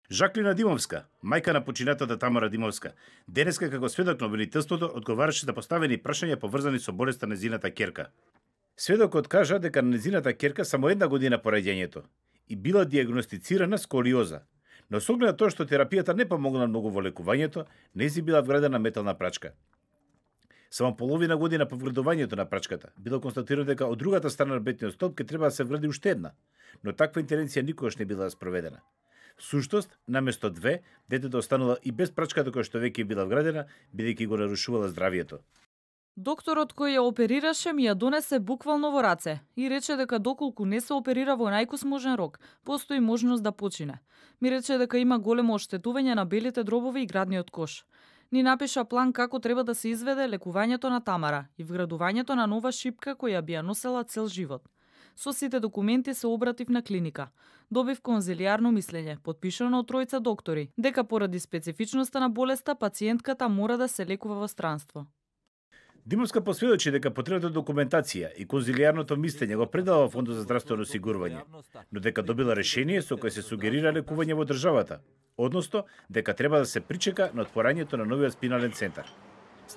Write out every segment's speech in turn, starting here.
Жаклина Димовска, мајка на починатата Тамара Димовска, денеска како сведок на обвинителството одговараше за поставени прашања поврзани со болеста на нејзината ќерка. Сведокот кажа дека на нејзината ќерка само 1 година по раѓањето и била диагностицирана сколиоза, но со оглед на тоа што терапијата не помогна многу во лекувањето, нејзи била вградена метална прачка. Само половина година по вградувањето на прачката било констатирано дека од другата страна на бетниот столб ќе треба да се вгради уште една, но таква интервенција никогаш не била спроведена. Всушност, наместо 2, детето останала и без прачката која што веќе била вградена, бидејќи го нарушувала здравието. Докторот кој ја оперираше ми ја донесе буквално во раце и рече дека доколку не се оперира во најкосможен рок, постои можност да почине. Ми рече дека има големо оштетување на белите дробови и градниот кош. Ни напиша план како треба да се изведе лекувањето на Тамара и вградувањето на нова шипка која би ја носела цел живот. Со сите документи се обратив на клиника. Добив конзилијарно мислење, потпишано од 3 доктори, дека поради специфичноста на болеста пациентката мора да се лекува во странство. Димовска посведочи дека потребната документација и конзилијарното мислење го предала во Фондот за здравствено осигурување, но дека добила решение со кое се сугерира лекување во државата, односно дека треба да се причека на отворањето на новиот спинален центар.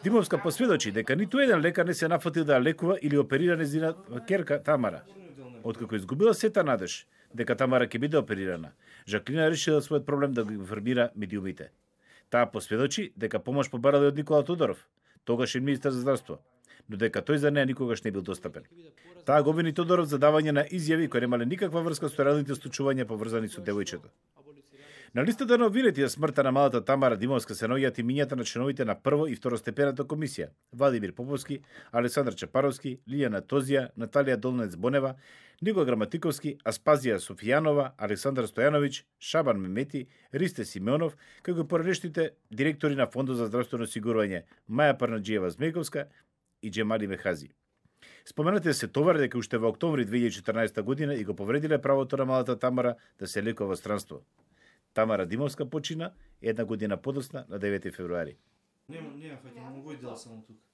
Димовска посведочи дека ниту еден лекар не се нафатил да ја лекува или оперира нејзина ќерка Тамара. Откако изгубила сета надеж дека Тамара ќе биде оперирана, Жаклина решила својот проблем да го информира медиумите. Таа посведочи дека помош побарала од Никола Тодоров, тогашен министер за здравство, но дека тој за неа никогаш не бил достапен. Таа го обвини Тодоров за давање на изјави кои немале никаква врска со реалните случувања поврзани со девојчето. На листата на обвинети за смртта на малата Тамара Димовска се наоѓаат имињата на членовите на прво и второстепената комисија: Владимир Поповски, Александар Чапаровски, Лијана Тозија, Наталија Долнец Бонева, Никола Граматиковски, Аспазија Софијанова, Александар Стојановиќ, Шабан Мемети, Ристе Симеонов, како и поранешните директори на Фондот за здравствено осигурување Маја Парнаџиева Змејковска и Џемали Мехази. Споменатите се товари дека уште во октомври 2014 година и го повредиле правото на малата Тамара да се лекува во странство. Тамара Димовска почина 1 година подоцна на 9 февруари. Нема, фаќам, овој дел само тука.